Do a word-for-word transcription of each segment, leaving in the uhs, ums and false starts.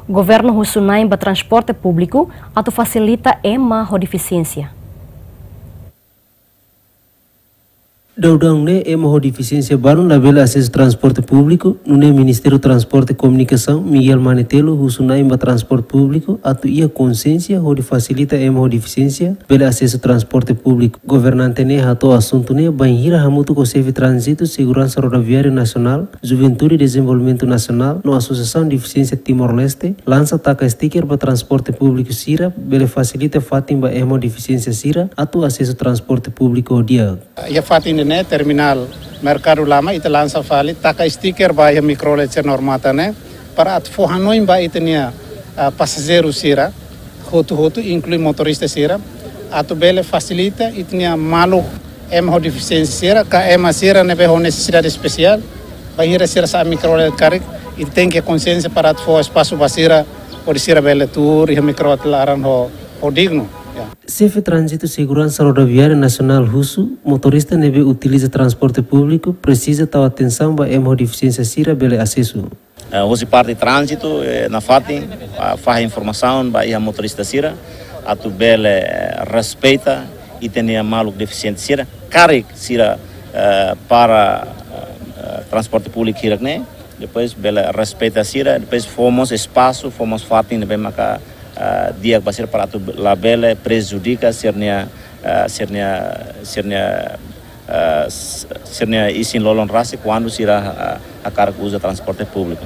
Governu husu na'in ba transporte públiku atu fasilita ema ho defisiénsia. Daudaun ne'e ema ho defisiénsia balun labele asesu transporte públiku, nune'e Ministériu Transporte Komunikasaun, Miguel Manetelu, husu na'in ba transporte públiku atu iha konsiénsia hodi fasilita ema ho defisiénsia bele asesu transporte públiku. Governante ne'e hato'o asuntu ne'e bainhira hamutuk ho Xefe Tránzitu Seguransa Rodoviária Nasionál, Juventude Dezenvolvimentu Nasionál no Asosiasaun Defisiénsia Timor-Leste lansa taka sticker ba transporte públiku sira bele fasilita fatin ba ema ho defisiénsia sira atu asesu transporte públiku ho di'ak. Iha fatin ne'e terminál Merkadu Lama ita lansa fali taka sticker ba iha mikrolet sira no armata ne'e para atu fó hanoin ba ita-nia, ah, pasajeiru sira hotu-hotu, inklui motorista sira, atu bele fasilita ita-nia maluk ema ho defisiénsia sira, ka ema sira ne'ebé ho nesesidade espesiál, bainhira sira sa'e mikrolet karik, ita tenke konsiénsia para atu fó espasu ba sira, hodi sira bele tuur iha mikrolet laran ho, ho dignu. Ya. Xefe Tránzitu Seguransa Rodoviária Nasionál husu, motorista ne'ebé utiliza transporte públiku presiza tau atensaun ba ema ho defisiénsia sira bele asesu. Eh, hosi parte tránzitu, eh, nafatin, ah, fahe informasaun ba iha motorista sira, atu bele, eh, respeita ita-nia maluk defisiente sira, karik sira, eh, para, eh, transporte públiku hirak ne'e, depois bele respeita sira, depois fó mós espasu, fó mós fatin ne'ebé maka, eh, di'ak ba sira para atu labele prejudika sira-nia, eh, sira-nia, sira-nia, eh, s-, sira-nia isin-lolon rasik kuandu sira, eh, hakarak uza transporte públiku.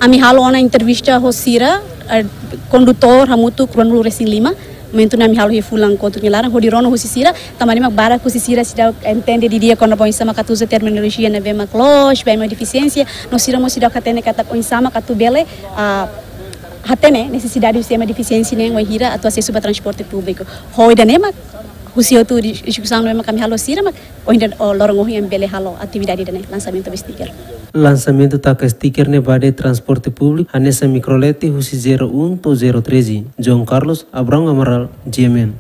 Ami halo ona entrevista ho sira, eh, kondutór hamutuk ruanulu-resin-lima. Momentu ne'e ami halo iha fulan kotuk nia laran, hodi rona husi sira, tanba ne'e mak barak husi sira seidauk entende didi'ak kona-ba oinsá maka atu uza terminolojia ne'ebé mak loos ba ema defisiénsia, no sira mós seidauk hatene katak oinsá maka atu bele, ah, hatene nesesidade husi ema defisiénsia ne'e wainhira atu asesu ba transporte públiku. Ho ida-ne'e mak husi hotu di-, diskusaun ne'ebé mak ami halo ho sira mak ohin loron ohin ami bele halo atividade ida-ne'e, lansamentu ba sticker. Lansamentu taka sticker ne'e ba de'it transporte públiku hanesan mikrolet husi zero um to'o zero treze. João Carlos, Abrão Amaral, G M N.